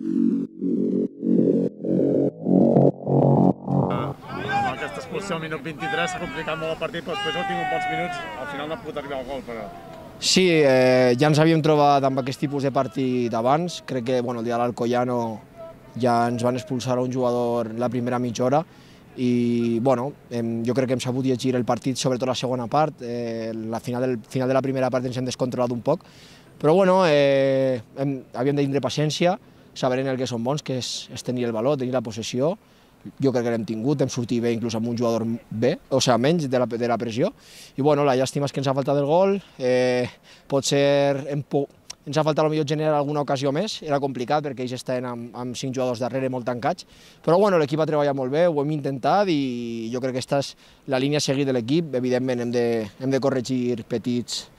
Amb aquesta expulsió al minut 23 s'ha complicat molt el partit, però després heu tingut bons minuts, al final no ha pogut arribar al gol, però... Sí, ja ens havíem trobat amb aquest tipus de partit abans. Crec que el dia de l'Alcoyano ja ens van expulsar a un jugador la primera mitja hora i jo crec que hem sabut llegir el partit, sobretot la segona part. La final de la primera part ens hem descontrolat un poc, però havíem de tindre paciència, saber en el que som bons, que és tenir el valor, tenir la possessió. Jo crec que l'hem tingut, hem sortit bé inclús amb un jugador menys de la pressió. I la llàstima és que ens ha faltat el gol, potser ens ha faltat potser generar alguna ocasió més, era complicat perquè ells estaven amb 5 jugadors darrere molt tancats, però l'equip ha treballat molt bé, ho hem intentat i jo crec que aquesta és la línia a seguir de l'equip. Evidentment hem de corregir petits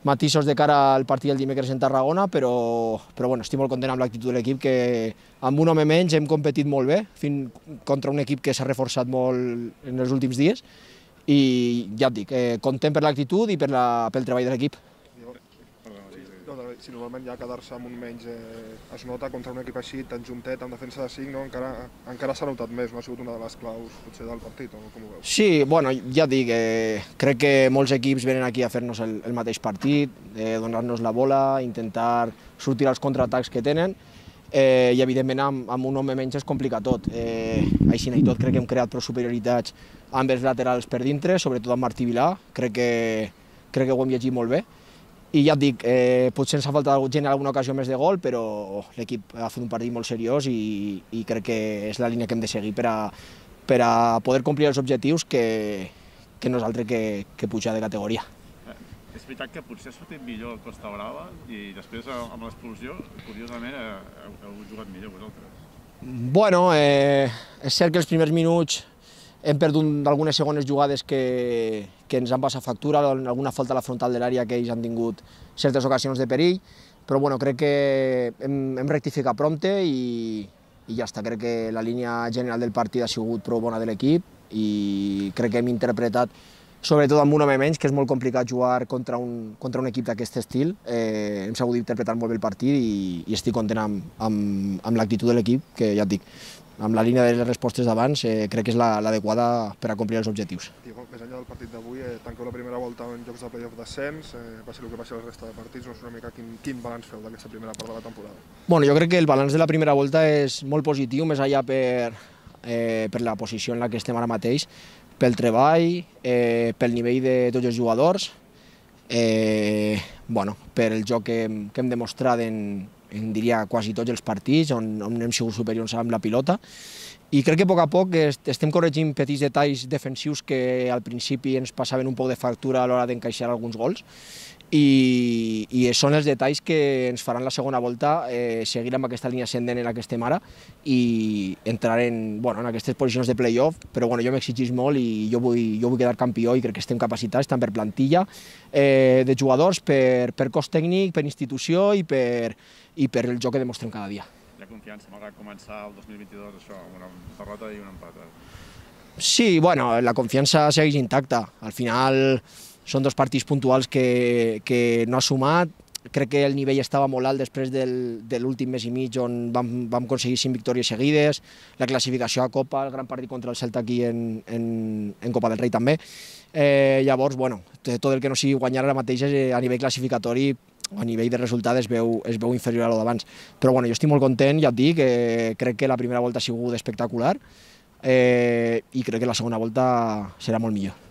matisos de cara al partit del dimecres en Tarragona, però estic molt content amb l'actitud de l'equip, que amb un home menys hem competit molt bé contra un equip que s'ha reforçat molt en els últims dies i ja et dic, content per l'actitud i pel treball de l'equip. Si normalment ja quedar-se amb un menys es nota contra un equip així tan juntet, amb defensa de 5, encara s'ha notat més, no ha sigut una de les claus potser del partit, o com ho veus? Sí, ja et dic, crec que molts equips venen aquí a fer-nos el mateix partit, donar-nos la bola, intentar sortir als contraatacs que tenen i evidentment amb un home menys es complica tot. Així i tot crec que hem creat prou superioritats amb els laterals per dintre, sobretot amb Martí Vilà, crec que ho hem llegit molt bé. I ja et dic, potser ens ha faltat generar alguna ocasió més de gol, però l'equip ha fet un partit molt seriós i crec que és la línia que hem de seguir per a poder complir els objectius que no és altre que pujar de categoria. És veritat que potser ha sortit millor el Costa Brava i després amb l'expulsió, curiosament, heu jugat millor vosaltres. És cert que els primers minuts hem perdut algunes segones jugades que ens han passat factura, alguna falta a la frontal de l'àrea que ells han tingut certes ocasions de perill, però crec que hem rectificat prompte i ja està. Crec que la línia general del partit ha sigut prou bona de l'equip i crec que hem interpretat, sobretot amb un home menys, que és molt complicat jugar contra un equip d'aquest estil, hem sabut interpretar molt bé el partit i estic content amb l'actitud de l'equip, que ja et dic, amb la línia de les respostes d'abans, crec que és l'adequada per a complir els objectius. Diego, més enllà del partit d'avui, tanqueu la primera volta en jocs de play-off d'ascens, va ser el que va ser la resta de partits, no sé una mica quin balanç feu d'aquesta primera part de la temporada? Jo crec que el balanç de la primera volta és molt positiu, més enllà per la posició en la que estem ara mateix, pel treball, pel nivell de tots els jugadors, per el joc que hem demostrat diria quasi tots els partits on hem sigut superiors amb la pilota i crec que a poc estem corregint petits detalls defensius que al principi ens passaven un poc de factura a l'hora d'encaixar alguns gols i són els detalls que ens faran la segona volta seguir amb aquesta línia ascendent en la que estem ara i entrar en aquestes posicions de play-off, però jo m'exigís molt i jo vull quedar campió i crec que estem capacitats tant per plantilla de jugadors, per cos tècnic, per institució i per el joc que demostrem cada dia. Hi ha confiança, malgrat començar el 2022 això, amb una derrota i un empat? Sí, la confiança segueix intacta. Al final són dos partits puntuals que no ha sumat. Crec que el nivell estava molt alt després de l'últim mes i mig on vam aconseguir 5 victòries seguides, la classificació a Copa, el gran partit contra el Celta aquí en Copa del Rei també. Llavors, tot el que no sigui guanyar ara mateix a nivell classificatori, a nivell de resultats es veu inferior a lo d'abans. Però jo estic molt content, ja et dic, crec que la primera volta ha sigut espectacular i crec que la segona volta serà molt millor.